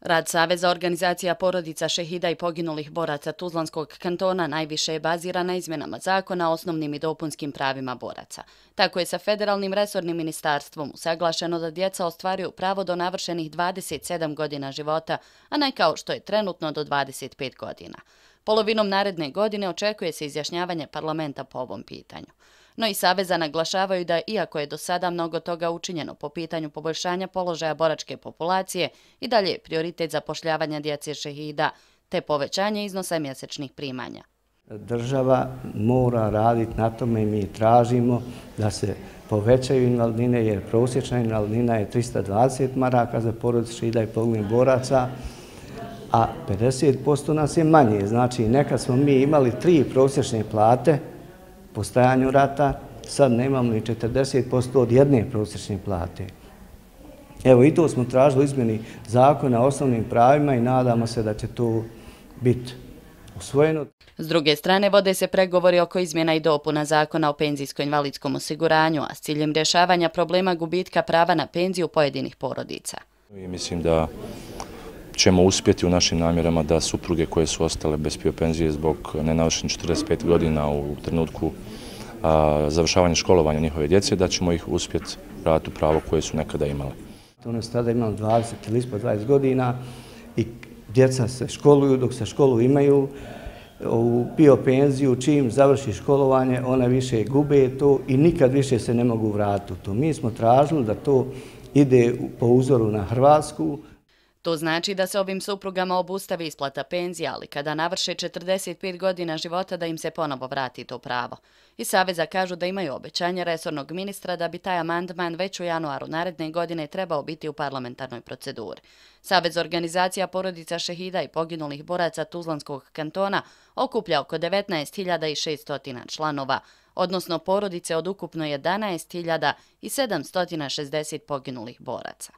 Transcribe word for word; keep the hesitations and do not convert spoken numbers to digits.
Rad Saveza organizacija porodica šehida i poginulih boraca Tuzlanskog kantona najviše je baziran na izmjenama zakona o osnovnim i dopunskim pravima boraca. Tako je sa federalnim resornim ministarstvom usaglašeno da djeca ostvaruju pravo do navršenih dvadeset sedam godina života, a ne kao što je trenutno do dvadeset pet godina. Polovinom naredne godine očekuje se izjašnjavanje parlamenta po ovom pitanju. No i Saveza naglašavaju da, iako je do sada mnogo toga učinjeno po pitanju poboljšanja položaja boračke populacije, i dalje je prioritet zapošljavanja djece šehida te povećanje iznosa mjesečnih primanja. Država mora raditi na tome i mi tražimo da se povećaju invalidnine, jer prosječna invalidnina je trista dvadeset maraka za porodicu šehida i poginulih boraca, a pedeset posto nas je manje. Znači, nekad smo mi imali tri prosječne plate po stajanju rata, sad nemamo ni četrdeset posto od jedne prosječne plate. Evo, i to smo tražili u izmjeni zakona o osnovnim pravima i nadamo se da će to biti usvojeno. S druge strane, vode se pregovori oko izmjena i dopuna zakona o penzijsko-invalidskom osiguranju, a s ciljem rješavanja problema gubitka prava na penziju pojedinih porodica. Mislim da ćemo uspjeti u našim namjerama da supruge koje su ostale bez P I O penzije zbog nenavršenih četrdeset pet godina u trenutku a, završavanja školovanja njihove djece, da ćemo ih uspjeti vratiti u pravo koje su nekada imale. One su tada imali dvadeset ili ispod dvadeset godina i djeca se školuju, dok se školu imaju u P I O penziju, čim završi školovanje, one više gube to i nikad više se ne mogu vratiti u to. Mi smo tražili da to ide po uzoru na Hrvatsku. To znači da se ovim suprugama obustavi isplata penzija, ali kada navrše četrdeset pet godina života da im se ponovo vrati to pravo. Iz Saveza kažu da imaju obećanje resornog ministra da bi taj amandman već u januaru naredne godine trebao biti u parlamentarnoj proceduri. Savez organizacija porodica šehida i poginulih boraca Tuzlanskog kantona okuplja oko devetnaest hiljada šesto članova, odnosno porodice od ukupno jedanaest hiljada sedamsto šezdeset poginulih boraca.